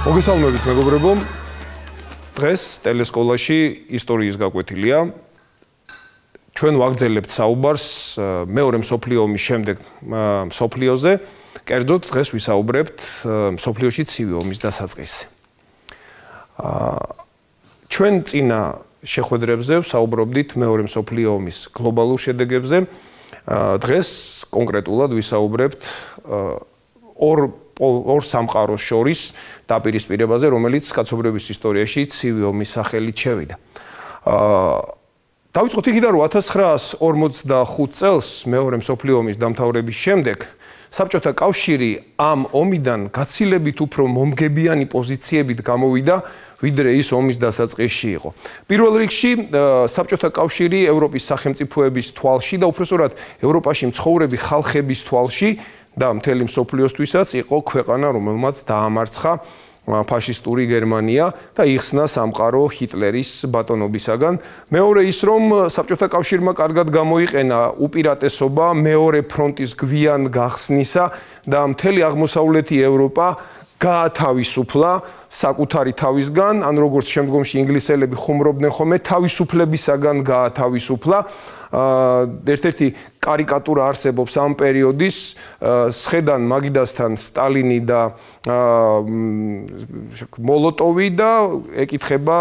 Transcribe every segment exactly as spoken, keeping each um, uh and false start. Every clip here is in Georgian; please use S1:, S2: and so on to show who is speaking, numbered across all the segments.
S1: მოგესალმებით მეგობრებო, დღეს ტელესკოლაში ისტორიის გაკვეთილია. ჩვენ ვაგრძელებთ საუბარს მეორე მსოფლიო ომის შემდეგ მსოფლიოზე, კერძოდ დღეს ვისაუბრებთ მსოფლიოში ცივი ომის დასაწყისზე. ჩვენ წინა შეხვედრებზე ვსაუბრობდით მეორე მსოფლიო ომის გლობალურ შედეგებზე. დღეს კონკრეტულად ვისაუბრებთ ორ ორ სამყაროს შორის დაპირისპირებაზე, რომელიც კაცობრიობის ისტორიაში ცივი ომის სახელით შევიდა. დავიწყოთ იქიდან, რომ ათას ცხრაას ორმოცდახუთ წელს მეორე მსოფლიო ომის დამთავრების შემდეგ საბჭოთა კავშირი ამ ომიდან გაცილებით უფრო მომგებიანი პოზიციებით გამოვიდა, ვიდრე ის ომის დასაწყისში იყო. პირველ რიგში საბჭოთა კავშირი ევროპის სახელმწიფოების თვალში და უпроსტად ევროპაში მცხოვრები ხალხების თვალში და მთელი მსოფლიოსთვისაც იყო ქვეყანა, რომელმაც დაამარცხა ფაშისტური გერმანია და იხსნა სამყარო ჰიტლერის ბატონობისაგან. მეორე ის, რომ საბჭოთა კავშირმა კარგად გამოიყენა უპირატესობა მეორე ფრონტის გვიან გახსნისა და მთელი აღმოსავლეთი ევროპა გაათავისუფლა საკუთარი თავისგან, ან როგორც შემდგომში ინგლისელები ხუმრობდნენ ხოლმე, თავისუფლებისაგან გაათავისუფლა. ერთ-ერთი კარიკატურა არსებობს ამ პერიოდის, სხედან მაგიდასთან სტალინი და მოლოტოვი და ეკითხება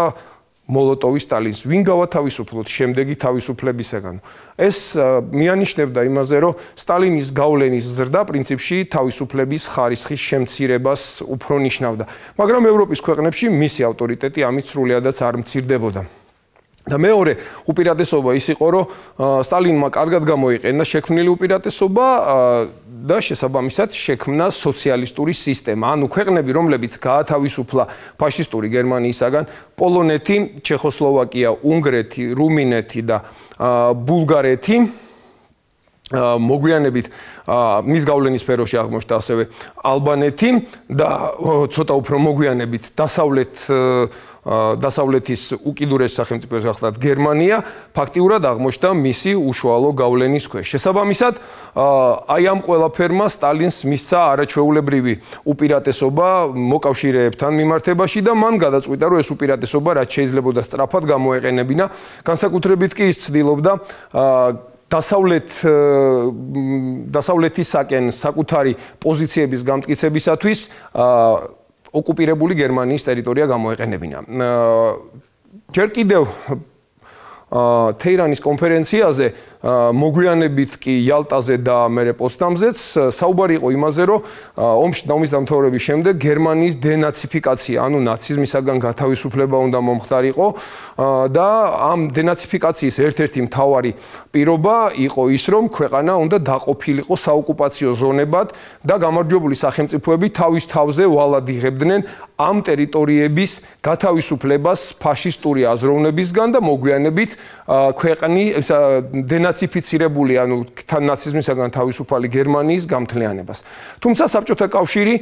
S1: მოლოტოვი სტალინს, ვინ გავათავისუფლოთ შემდეგი თავისუფლებისაგან. ეს მიანიშნებდა იმაზე, რომ სტალინის გავლენის ზრდა პრინციპში თავისუფლების ხარისხის შემცირებას უფრო ნიშნავდა. მაგრამ ევროპის ქვეყნებში მისი ავტორიტეტი ამით სრულიადაც არ მცირდებოდა. და მეორე უპირატესობა ის იყო, რომ სტალინმა კარგად გამოიყენა შექმნილი უპირატესობა და შესაბამისად შექმნა სოციალისტური სისტემა. ანუ ქვეყნები, რომლებიც გაათავისუფლა ფაშისტური გერმანიისაგან, პოლონეთი, ჩეხოსლოვაკია, უნგრეთი, რუმინეთი და ბულგარეთი, მოგვიანებით მის გავლენის სფეროში აღმოჩნდა ასევე ალბანეთი და ცოტა უფრო მოგვიანებით დასავლეთ დასავლეთის უკიდურეს სახელმწიფოს გახლდათ გერმანია, ფაქტიურად აღმოჩნდა მისი უშუალო გავლენის ქვეშ. შესაბამისად, აი ამ ყველაფერმა სტალინს მისცა არაჩვეულებრივი უპირატესობა მოკავშირეებთან მიმართებაში და მან გადაწყვიტა, რომ ეს უპირატესობა რაც შეიძლებოდა სწრაფად გამოეყენებინა, განსაკუთრებით კი ის ცდილობდა დასავლეთ დასავლეთისაკენ საკუთარი პოზიციების გამტკიცებისათვის ოკუპირებული გერმანიის ტერიტორია გამოეყენებინა. ჯერ კიდევ თეირანის კონფერენციაზე, მოგვიანებით კი იალტაზე და მერე პოცდამზეც საუბარი იყო იმაზე, რომ ომის დამთავრების შემდეგ გერმანიის დენაციფიკაცია, ანუ ნაციზმისაგან გათავისუფლება უნდა მომხდარიყო და ამ დენაციფიკაციის ერთ-ერთი მთავარი პირობა იყო ის, რომ ქვეყანა უნდა დაყოფილიყო საოკუპაციო ზონებად და გამარჯვებული სახელმწიფოები თავის თავზე ვალად იღებდნენ ამ ტერიტორიების გათავისუფლებას ფაშისტური აზროვნებისგან და მოგვიანებით ქვეყანი დენაციფიცირებული, ანუ თან ნაციზმისაგან თავისუფალი გერმანიის გამთლიანებას. თუმცა საბჭოთა კავშირი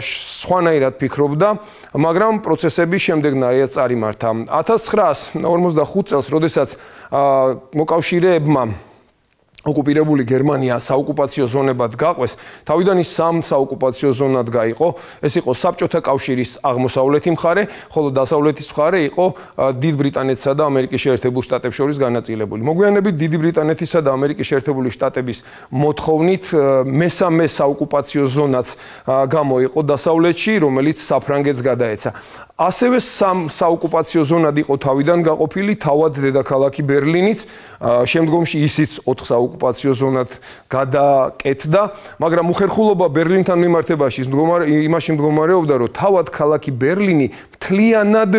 S1: სხვანაირად ფიქრობდა, მაგრამ პროცესები შემდეგნაირად წარიმართა. ათას ცხრაას ორმოცდახუთ წელს, როდესაც მოკავშირეებმა ოკუპირებული გერმანია საოკუპაციო ზონებად გაყვეს, თავიდან ის სამ საოკუპაციო ზონად გაიყო. ეს იყო საბჭოთა კავშირის აღმოსავლეთი მხარე, ხოლო დასავლეთის მხარე იყო დიდ ბრიტანეთსა და ამერიკის შეერთებულ შტატებს შორის განაწილებული. მოგვიანებით დიდი ბრიტანეთისა და ამერიკის შეერთებული შტატების მოთხოვნით მესამე საოკუპაციო ზონაც გამოიყო დასავლეთში, რომელიც საფრანგეთს გადაეცა. ასევე სამ საოკუპაციო ზონად იყო თავიდან გაყოფილი თავად დედაქალაქი ბერლინიც, შემდგომში ისიც ოთხ ოკუპაციო ზონად გადაკეთდა, მაგრამ უხერხულობა ბერლინთან მიმართებაში იმაში მდგომარეობდა, რომ თავად ქალაქი ბერლინი მთლიანად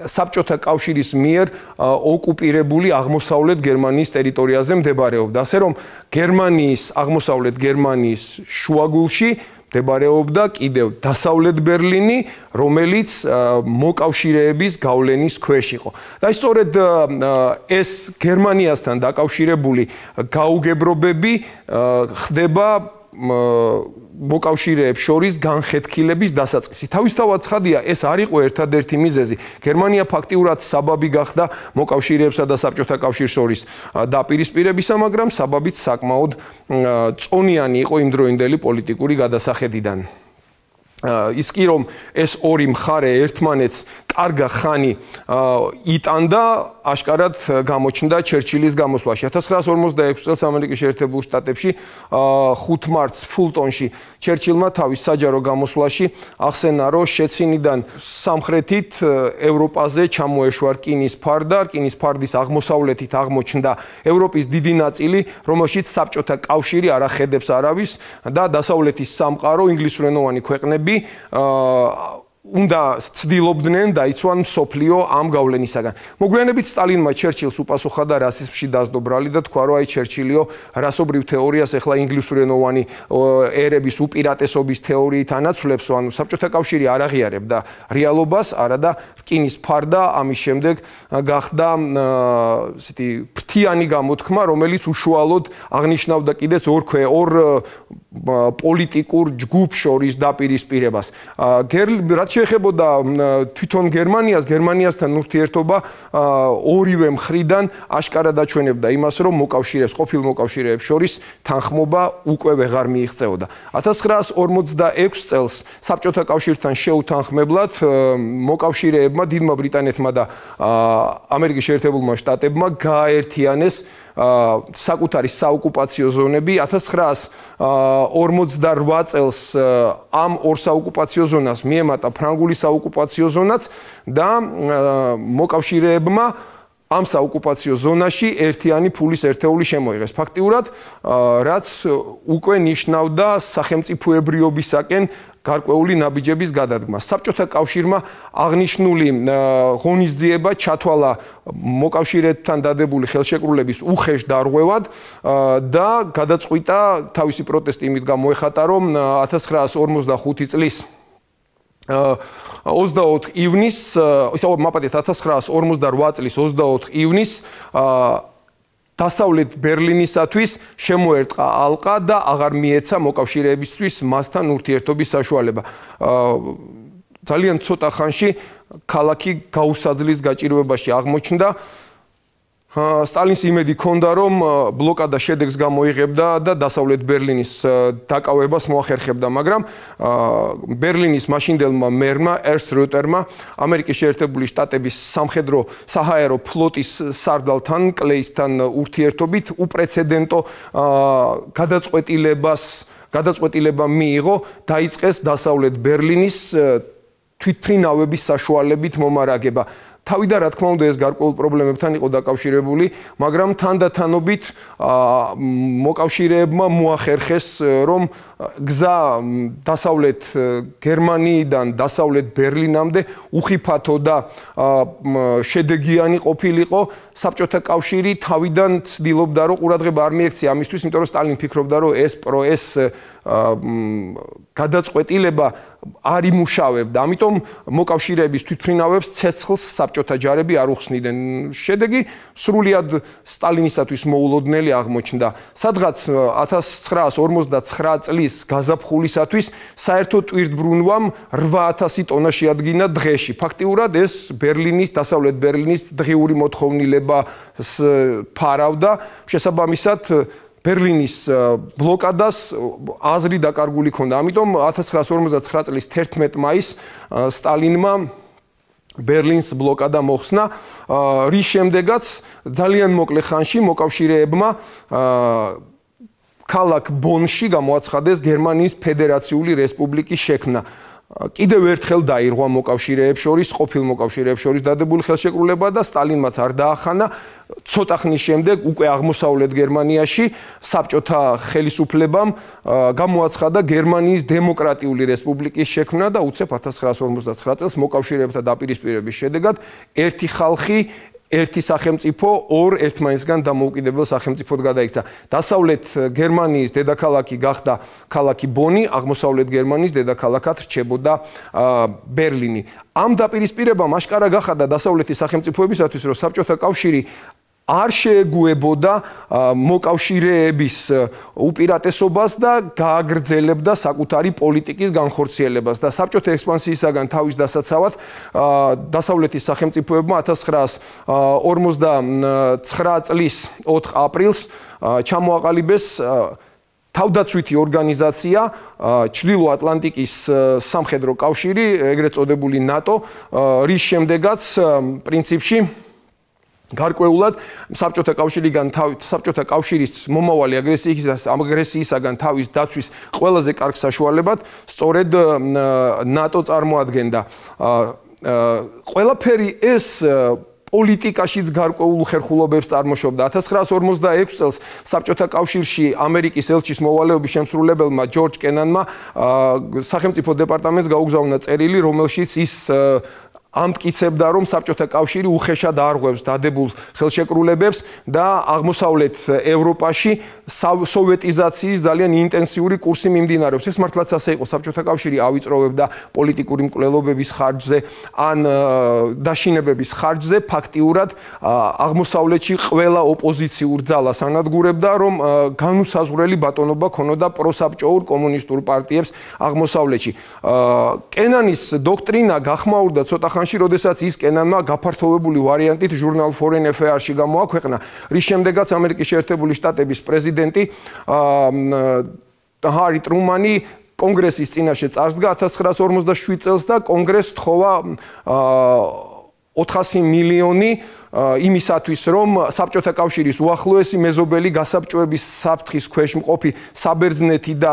S1: საბჭოთა კავშირის მიერ ოკუპირებული აღმოსავლეთ გერმანიის ტერიტორიაზე მდებარეობდა. ასე რომ გერმანიის აღმოსავლეთ გერმანიის შუაგულში მდებარეობდა კიდევ დასავლეთ ბერლინი, რომელიც მოკავშირეების გავლენის ქვეშ იყო. და სწორედ ეს გერმანიასთან დაკავშირებული გაუგებრობები ხდება მოკავშირეებს შორის განხეთქილების დასაწყისი. თავისთავად ცხადია, ეს არ იყო ერთადერთი მიზეზი. გერმანია ფაქტიურად საბაბი გახდა მოკავშირეებსა და საბჭოთა კავშირის შორის დაპირისპირებისა, მაგრამ საბაბიც საკმაოდ წონიანი იყო იმდროინდელი პოლიტიკური გადასახედიდან. ის კი რომ ეს ორი მხარე ერთმანეთს კარგა ხანი იტანდა, აშკარად გამოჩნდა ჩერჩილის გამოსვლაში. ათას ცხრაას ორმოცდაექვსი წელს ამერიკის შეერთებულ შტატებში ხუთ მარტს ფულტონში ჩერჩილმა თავის საჯარო გამოსვლაში ახსენა, რომ შეცინიდან სამხრეთით ევროპაზე ჩამოეშვა რკინის ფარდა, რკინის ფარდის აღმოსავლეთით აღმოჩნდა ევროპის დიდი ნაწილი, რომელშიც საბჭოთა კავშირი არ ახედებს არავის და დასავლეთის სამყარო, ინგლისურენოვანი ქვეყნები უნდა ცდილობდნენ დაიცვან მსოფლიო ამ გავლენისაგან. მოგვიანებით სტალინმა ჩერჩილს უპასუხა და რასიზმში დასდო ბრალი და თქვა, რომ აი ჩერჩილიო რასობრივ თეორიას ახლა ინგლისურენოვანი ერების უპირატესობის თეორიით ანაცვლებს, ანუ საბჭოთა კავშირი არ აღიარებდა რეალობას, არა და რკინის ფარდა ამის შემდეგ გახდა ესეთი ფრთიანი გამოთქმა, რომელიც უშუალოდ აღნიშნავდა კიდეც ორ ორ პოლიტიკურ ჯგუფ შორის დაპირისპირებას. რაც შეეხებოდა თვითონ გერმანიას, გერმანიასთან ურთიერთობა ორივე მხრიდან აშკარად აჩვენებდა იმას, რომ მოკავშირეებს, ყოფილ მოკავშირეებს შორის თანხმობა უკვე ვეღარ მიიღწეოდა. ათას ცხრაას ორმოცდაექვსი წელს საბჭოთა კავშირთან შეუთანხმებლად მოკავშირეებმა, დიდმა ბრიტანეთმა და ამერიკის შეერთებულმა შტატებმა გააერთიანეს საკუთარი საოკუპაციო ზონები. ათას ცხრაას ორმოცდარვა წელს ამ ორ საოკუპაციო ზონას მიემატა ფრანგული საოკუპაციო ზონაც და მოკავშირეებმა ამ საოკუპაციო ზონაში ერთიანი ფულის ერთეული შემოიღეს. ფაქტიურად, რაც უკვე ნიშნავდა სახელმწიფოებრიობისაკენ გარკვეული ნაბიჯების გადადგმას. საბჭოთა კავშირმა აღნიშნული ღონისძიება ჩათვალა მოკავშირეებთან დადებული ხელშეკრულების უხეშ დარღვევად და გადაწყვიტა თავისი პროტესტი იმით გამოეხატა, რომ ათას ცხრაას ორმოცდახუთი წლის ოცდაოთხ ივნისს, ისე მაპატეთ ათას ცხრაას ორმოცდარვა წლის ოცდაოთხ ივნისს დასავლეთ ბერლინისათვის შემოერტყა ალყა და აღარ მიეცა მოკავშირეებისთვის მასთან ურთიერთობის საშუალება. ძალიან ცოტა ხანში ქალაქი გაუსაძლის გაჭირვებაში აღმოჩნდა. სტალინს იმედი ჰქონდა, რომ ბლოკადა შედეგს გამოიღებდა და დასავლეთ ბერლინის დაკავებას მოახერხებდა, მაგრამ ბერლინის მაშინდელმა მერმა ერნსტ როტერმა ამერიკის შეერთებული შტატების სამხედრო საჰაერო ფლოტის სარდალთან კლეისთან ურთიერთობით უპრეცედენტო გადაწყვეტილებას გადაწყვეტილება მიიღო, დაიწყეს დასავლეთ ბერლინის თვითმფრინავების საშუალებით მომარაგება. თავიდან რა თქმა უნდა ეს გარკვეულ პრობლემებთან იყო დაკავშირებული, მაგრამ თანდათანობით მოკავშირეებმა მოახერხეს, რომ გზა დასავლეთ გერმანიიდან დასავლეთ ბერლინამდე უხიფათო და შედეგიანი ყოფილიყო. საბჭოთა კავშირი თავიდან ცდილობდა, რომ ყურადღება არ მიექცია ამისთვის, იმიტომ რომ სტალინი ფიქრობდა, რომ ეს პრო ეს გადაწყვეტილება არ იმუშავებდა. ამიტომ მოკავშირეების თვითმფრინავებს ცეცხლს საბჭოთა ჯარები არ უხსნიდნენ. შედეგი სრულიად სტალინისათვის მოულოდნელი აღმოჩნდა. სადღაც ათას ცხრაას ორმოცდაცხრა წლის გაზაფხულისათვის საერთო ტვირთბრუნვამ რვა ათასი ტონა შეადგინა დღეში. ფაქტიურად ეს ბერლინის, დასავლეთ ბერლინის დღიური მოთხოვნილებას ფარავდა. შესაბამისად ბერლინის ბლოკადას აზრი დაკარგული ჰქონდა. ამიტომ ათას ცხრაას ორმოცდაცხრა წლის თერთმეტ მაისს სტალინმა ბერლინს ბლოკადა მოხსნა, რის შემდეგაც ძალიან მოკლე ხანში მოკავშირეებმა ქალაქ ბონში გამოაცხადეს გერმანიის ფედერაციული რესპუბლიკის შექმნა. კიდევ ერთხელ დაირღვა მოკავშირეებს შორის, ყოფილ მოკავშირეებს შორის დადებული ხელშეკრულება და სტალინმაც არ დაახანა. ცოტა ხნის შემდეგ უკვე აღმოსავლეთ გერმანიაში საბჭოთა ხელისუფლებამ გამოაცხადა გერმანიის დემოკრატიული რესპუბლიკის შექმნა და უცებ ათას ცხრაას ორმოცდაცხრა წელს მოკავშირეებთან დაპირისპირების შედეგად ერთი ხალხი, ერთი სახელმწიფო ორ ერთმანეთსგან დამოუკიდებელ სახელმწიფოდ გადაიქცა. დასავლეთ გერმანიის დედაქალაქი გახდა ქალაქი ბონი, აღმოსავლეთ გერმანიის დედაქალაქად რჩებოდა ბერლინი. ამ დაპირისპირებამ აშკარა გახადა დასავლეთის სახელმწიფოებისათვის, რომ საბჭოთა კავშირი არ შეეგუებოდა მოკავშირეების უპირატესობას და გააგრძელებდა საკუთარი პოლიტიკის განხორციელებას და საბჭოთა ექსპანსიისაგან თავის დასაცავად დასავლეთის სახელმწიფოებმა ათას ცხრაას ორმოცდაცხრა წლის ოთხ აპრილს ჩამოაყალიბეს თავდაცვითი ორგანიზაცია ჩრდილო ატლანტიკის სამხედრო კავშირი, ეგრეთ წოდებული ნატო, რის შემდეგაც პრინციპში გარკვეულად საბჭოთა კავშირიდან საბჭოთა კავშირის მომავალი აგრესიისაგან თავის დაცვის ყველაზე კარგ საშუალებად სწორედ ნატო წარმოადგენდა. ყველაფერი ეს პოლიტიკაშიც გარკვეულ ხერხულობებს წარმოშობდა. ათას ცხრაას ორმოცდაექვსი წელს საბჭოთა კავშირში ამერიკის ელჩის მოვალეობის შემსრულებელმა ჯორჯ კენანმა სახელმწიფო დეპარტამენტს გაუგზავნა წერილი, რომელშიც ის ამტკიცებდა, რომ საბჭოთა კავშირი უხეშად არღვევს დადებულ ხელშეკრულებებს და აღმოსავლეთ ევროპაში სოვეტიზაციის ძალიან ინტენსიური კურსი მიმდინარეობს. ეს მართლაც ასე იყო. საბჭოთა კავშირი ავიწროვებდა პოლიტიკური მკვლელობების ხარჯზე ან დაშინებების ხარჯზე, ფაქტიურად აღმოსავლეთში ყველა ოპოზიციურ ძალას ანადგურებდა, რომ განუსაზღვრელი ბატონობა ქონოდა პროსაბჭოურ კომუნისტურ პარტიებს აღმოსავლეთში. კენანის დოქტრინა გახმაურდა ცოტა ხანში, როდესაც ის კენანმა გაფართოვებული ვარიანტით ჟურნალ Foreign Affairs-ში გამოაქვეყნა, რის შემდეგაც ამერიკის შეერთებული შტატების პრეზიდენტი ჰარი ტრუმანი კონგრესის წინაშე წარსდგა ათას ცხრაას ორმოცდაშვიდ წელს და კონგრესს თხოვა ოთხასი მილიონი იმისათვის, რომ საბჭოთა კავშირის უახლოესი მეზობელი გასაბჭოების საფრთხის ქვეშ მყოფი საბერძნეთი და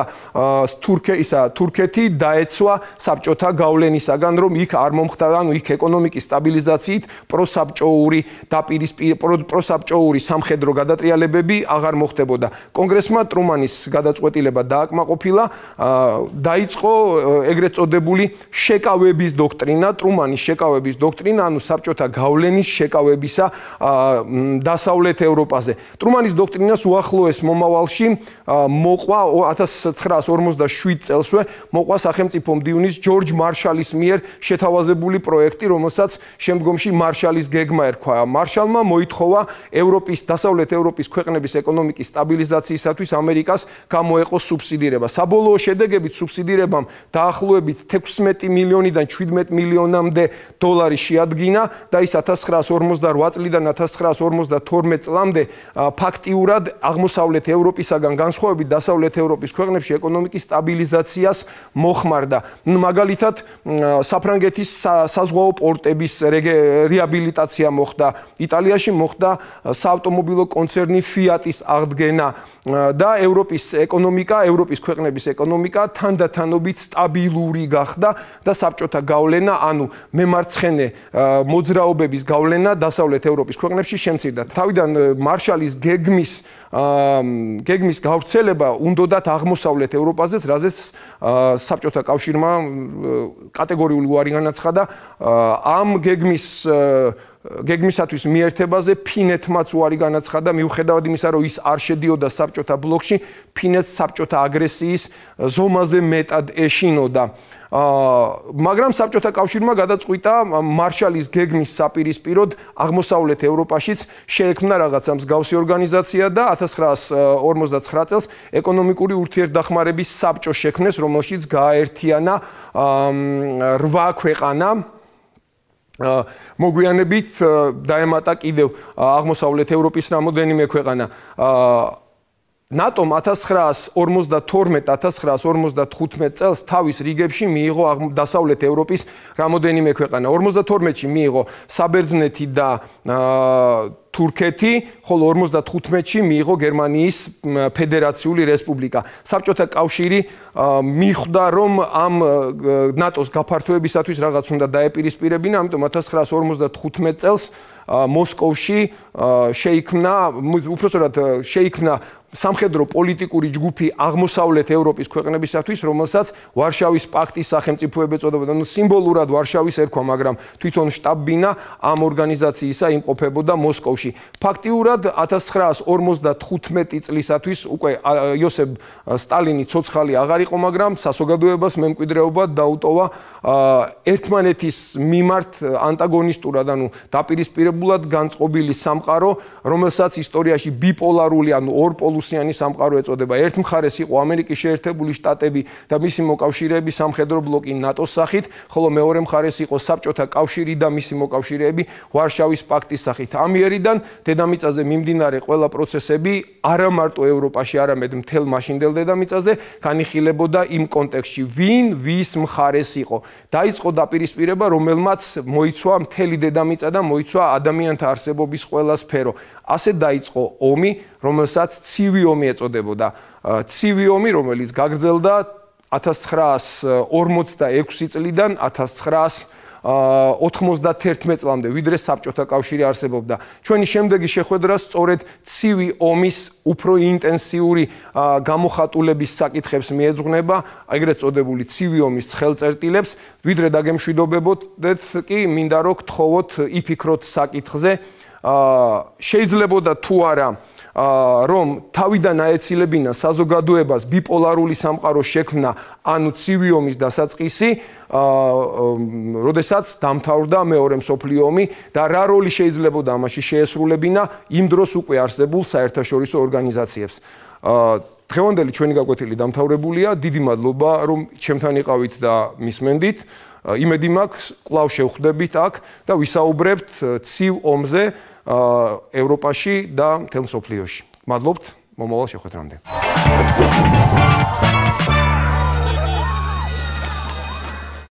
S1: თურქეთი დაეცვა საბჭოთა გავლენისაგან, რომ იქ არ მომხდარა, ანუ იქ ეკონომიკის სტაბილიზაციით პროსაბჭოური პროსაბჭოური სამხედრო გადატრიალებები აღარ მოხდებოდა. კონგრესმა ტრუმანის გადაწყვეტილება დააკმაყოფილა, დაიწყო ეგრეთ წოდებული შეკავების დოქტრინა, ტრუმანის შეკავების დოქტრინა, ანუ საბჭოთა გავლენის შეკავების დასავლეთ ევროპაზე. ტრუმანის დოქტრინას უახლოეს მომავალში მოყვა ათას ცხრაას ორმოცდაშვიდ წელსვე მოყვა სახელმწიფო მდივნის ჯორჯ მარშალის მიერ შეთავაზებული პროექტი, რომელსაც შემდგომში მარშალის გეგმა ერქვა. მარშალმა მოითხოვა ევროპის დასავლეთ ევროპის ქვეყნების ეკონომიკის სტაბილიზაციისათვის ამერიკას გამოეყო სუბსიდირება. საბოლოო შედეგებით სუბსიდირებამ დაახლოებით თექვსმეტი მილიონიდან შვიდმეტ მილიონამდე დოლარი შეადგინა და ის ათას ცხრაას ორმოცდაოთხ წლიდან ათას ცხრაას ორმოცდათორმეტ წლამდე ფაქტიურად აღმოსავლეთ ევროპისაგან განსხვავებით დასავლეთ ევროპის ქვეყნებში ეკონომიკის სტაბილიზაციას მოხმარდა. მაგალითად, საფრანგეთის საზღვაო პორტების რეაბილიტაცია მოხდა, იტალიაში მოხდა საავტომობილო კონცერნი ფიატის აღდგენა და ევროპის ეკონომიკა, ევროპის ქვეყნების ეკონომიკა თანდათანობით სტაბილური გახდა და საბჭოთა გავლენა, ანუ მემარცხენე მოძრაობების გავლენა დასავლეთ ევროპის ქვეყნებში შემცირდა. თავიდან მარშალის გეგმის გეგმის გავრცელება უნდოდათ აღმოსავლეთ ევროპაზეც, რაზეც საბჭოთა კავშირმა კატეგორიული უარი განაცხადა. ამ გეგმის გეგმისათვის მიერთებაზე ფინეთმაც უარი განაცხადა, მიუხედავად იმისა, რომ ის არ შედიოდა საბჭოთა ბლოკში, ფინეთს საბჭოთა აგრესიის ზომაზე მეტად ეშინოდა. მაგრამ საბჭოთა კავშირმა გადაწყვიტა მარშალის გეგმის საპირისპიროდ აღმოსავლეთ ევროპაშიც შეექმნა რაღაცა მსგავსი ორგანიზაცია და ათას ცხრაას ორმოცდაცხრა წელს ეკონომიკური ურთიერთდახმარების საბჭო შექმნეს, რომელშიც გააერთიანა რვა ქვეყანა. მოგვიანებით დაემატა კიდევ აღმოსავლეთ ევროპის რამოდენიმე ქვეყანა. ნატომ ათას ცხრაას ორმოცდათორმეტ ათას ცხრაას ორმოცდათხუთმეტ წელს თავის რიგებში მიიღო დასავლეთ ევროპის რამოდენიმე ქვეყანა. ორმოცდათორმეტში მიიღო საბერძნეთი და თურქეთი, ხოლო ორმოცდათხუთმეტში მიიღო გერმანიის ფედერაციული რესპუბლიკა. საბჭოთა კავშირი მიხვდა, რომ ამ ნატოს გაფართოებისათვის რაღაც უნდა დაეპირისპირებინა, ამიტომ ათას ცხრაას ორმოცდათხუთმეტ წელს მოსკოვში შეიქმნა, უпростоრად შეიქმნა სამხედრო პოლიტიკური ჯგუფი აღმოსავლეთ ევროპის ქვეყნებისათვის, რომელსაც ვარშავის პაქტის სახელმწიფოები ეწოდებოდა. ნუ სიმბოლურად ვარშავის ერქვა, მაგრამ თვითონ შტაბ-ბინა ამ ორგანიზაციისა იმყოფებოდა მოსკოვში. ფაქტიურად ათას ცხრაას ორმოცდათხუთმეტი წლისათვის უკვე იოსებ სტალინი ცოცხალი აღარ იყო, მაგრამ საზოგადოებას მემკვიდრეობა დაუტოვა ერთმანეთის მიმართ ანტაგონისტურად, ანუ დაპირისპირებულად განწყობილი სამყარო, რომელსაც ისტორიაში ბიპოლარული, ანუ ორპოლუსი ათასჯგუფიანი სამყარო ეწოდება. ერთ მხარეს იყო ამერიკის შეერთებული შტატები და მისი მოკავშირეები სამხედრო ბლოკი ნატოს სახით, ხოლო მეორე მხარეს იყო საბჭოთა კავშირი და მისი მოკავშირეები ვარშავის პაქტის სახით. ამ იერიდან დედამიწაზე მიმდინარე ყველა პროცესები არა მარტო ევროპაში, არამედ მთელ მაშინდელ დედამიწაზე განიხილებოდა იმ კონტექსტში, ვინ ვის მხარეს იყო. დაიწყო დაპირისპირება, რომელმაც მოიცვა მთელი დედამიწა და მოიცვა ადამიანთა არსებობის ყველა სფერო. ასე დაიწყო ომი, რომელსაც ცივი ომი ეწოდებოდა. ცივი ომი, რომელიც გაგრძელდა ათას ცხრაას ორმოცდაექვსი წლიდან ათას ცხრაას ოთხმოცდათერთმეტ წლამდე, ვიდრე საბჭოთა კავშირი არსებობდა. ჩვენი შემდეგი შეხვედრა სწორედ ცივი ომის უფრო ინტენსიური გამოხატულების საკითხებს მიეძღვნება, ეგრეთ წოდებული ცივი ომის ცხელწერტილებს, ვიდრე დაგემშვიდობებოდეთ კი, მინდა რომ გთხოვოთ იფიქროთ საკითხზე, შეიძლებოდა თუ არა რომ თავიდან აეცილებინა საზოგადოებას ბიპოლარული სამყარო შექმნა, ანუ ცივი ომის დასაწყისი, როდესაც დამთავრდა მეორე მსოფლიო ომი და რა როლი შეიძლებოდა ამაში შეესრულებინა იმ დროს უკვე არსებულ საერთაშორისო ორგანიზაციებს. დღევანდელი ჩვენი გაკვეთილი დამთავრებულია. დიდი მადლობა, რომ ჩემთან იყავით და მისმენდით. იმედი მაქვს, კვლავ შევხვდებით აქ და ვისაუბრებთ ცივ ომზე ევროპაში და მთელ მსოფლიოში. მადლობთ, მომავალ შეხვედრამდე.